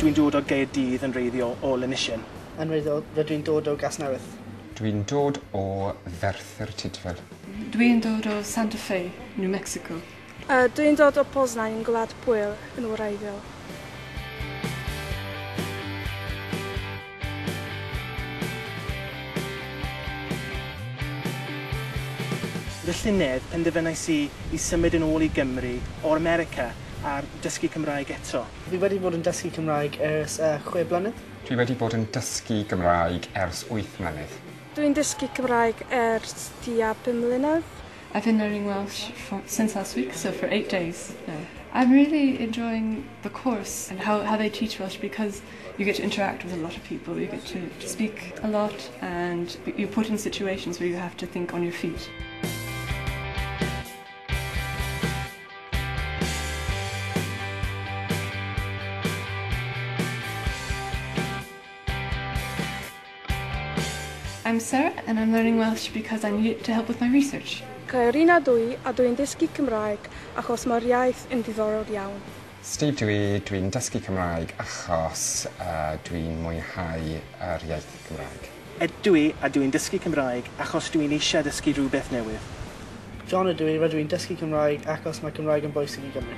Dwi'n dod o Gaerdydd yn wreiddiol o Llanisien. Yn wreiddiol, rydw i'n dod o Gasnewydd. Dwi'n dod o Ferthyr Tudful. Dwi'n dod o Santa Fe, New Mexico. Dwi'n dod o Poznań yn Gwlad Pwyl yn wreiddiol. Fy llynedd, penderfynais i i symud yn ôl i Gymru o'r America a dysgu Cymraeg eto. Fi wedi bod yn dysgu Cymraeg ers 6 blynedd. Dwi wedi bod yn dysgu Gymraeg ers 8 mlynedd. Dwi'n dysgu Cymraeg ers tua 5 mlynedd. I've been learning Welsh since last week, so for 8 days now. I'm really enjoying the course and how they teach Welsh, because you get to interact with a lot of people, you get to speak a lot, and you're put in situations where you have to think on your feet. I'm Sarah and I'm learning Welsh because I need it to help with my research. Caerina dwi a dwi'n dysgu Cymraeg achos mae'r iaith yn ddiddorol iawn. Steve dwi, dwi'n dysgu Cymraeg achos dwi'n mwynhau yr iaith Cymraeg. Ed dwi a dwi'n dysgu Cymraeg achos dwi'n eisiau dysgu rhywbeth newydd. John ydw i, rydw i'n dysgu Cymraeg achos mae Cymraeg yn bwysig i Gymru.